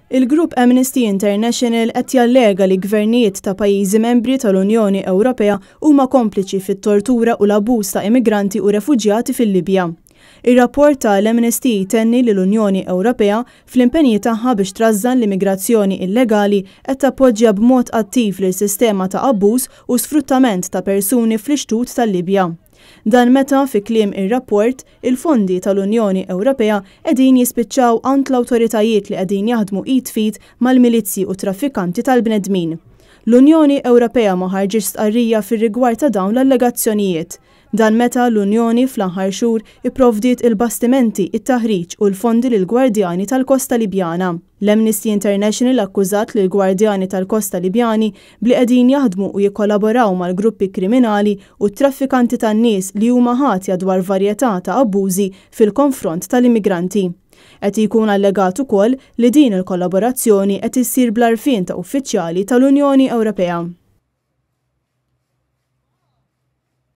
Il-grupp Amnesty International qed jallega li gvernijiet ta' pajjiżi membri tal-Unjoni Ewropea huma kompliċi fit-tortura u l-abbuż ta' immigranti u refuġjati fil-Libja. Ir-rapport tal-Amnesty jtenni li l-Unjoni Ewropea, fl-impenji tagħha biex trażżan l-immigrazzjoni illegali, qed tappoġġja b'mod attiv lil sistema ta' abbuż u sfruttament ta' persuni fl-ixtut tal-Libja. Dan meta, fi kliem ir-rapport, il-fondi tal-Unjoni Ewropea qegħdin jispiċċaw għand l-awtoritajiet li qegħdin jaħdmu id f'id mal-milizzji u traffikanti tal-bnedmin. L-Unjoni Ewropea ma ħarġitx stqarrija fir-rigward ta' dawn l-allegazzjonijiet. Dan meta l-Unjoni fl-aħħar xhur ipprovdiet il-bastimenti, it-taħriġ u l-fondi lill-Gwardjani tal-Kosta Libjana. L-Amnesty International akkużat lill-Gwardjani tal-Kosta Libjani b'li qegħdin jaħdmu u jikkollaboraw mal-gruppi kriminali u t-traffikanti tan-nies li huma ħatja dwar varjetà ta' abbużi fil-konfront tal-immigranti. Qed jkun allegat ukoll li din il-kollaborazzjoni qed issir bl-għarfien ta' uffiċjali tal-Unjoni Ewropea.